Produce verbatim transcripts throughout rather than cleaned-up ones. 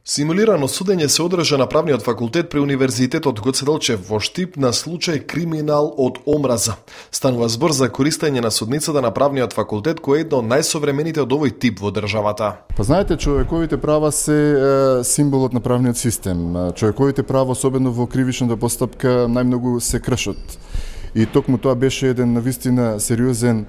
Симулирано судење се одржа на правниот факултет при Универзитетот Гоце Делчев во Штип на случај криминал од омраза. Станува збор за користење на судницата на правниот факултет, кој е едно од најсовремените од овој тип во државата. Па знаете, човековите права се е, символот на правниот систем. Човековите права, особено во кривичната постапка, најмногу се кршат. И токму тоа беше еден навистина сериозен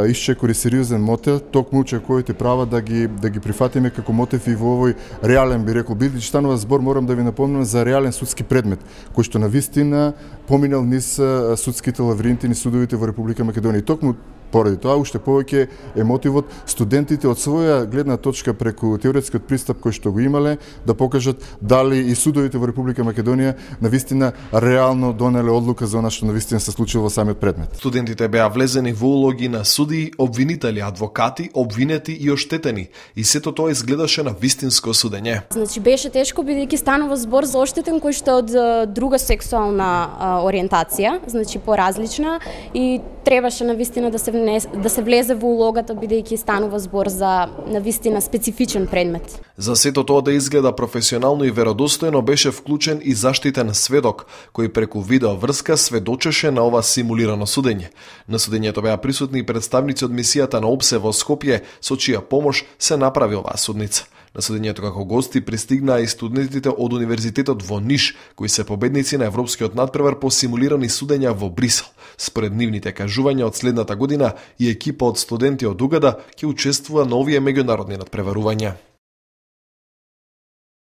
исчекор и сериозен мотив, токму човековите права да ги да ги прифатиме како мотив и во овој реален, би рекол, бидејќи станува збор, морам да ви напомнам за реален судски предмет, кој што навистина поминал низ судските лавринти низ судовите во Република Македонија. И токму поради тоа уште повеќе е мотивот студентите од своја гледна точка преку теоретскиот пристап кој што го имале да покажат дали и судовите во Република Македонија навистина реално донеле одлука за она што навистина се случило во самиот предмет. Студентите беа влезени во улоги на судии, обвинители, адвокати, обвинети и оштетени, и сето тоа изгледаше на вистинско судење. Значи беше тешко бидејќи станува збор за оштетен кој што од друга сексуална а, ориентација, значи поразлична, и требаше навистина да се да се влезе во улогата бидејќи станува збор за навистина специфичен предмет. За сето тоа да изгледа професионално и веродостојно беше вклучен и заштитен сведок кој преку видео врска сведочеше на ова симулирано судење. На судењето беа присутни представници од мисијата на ОПСЕ во Скопје, со чија помош се направи оваа судница. На судењето како гости пристигнаа и студентите од Универзитетот во Ниш, кои се победници на европскиот надпревар по симулирани судења во Брисел. Според нивните кажувања од следната година и екипа од студенти од Угада ќе учествува на овие меѓународни надпреварувања.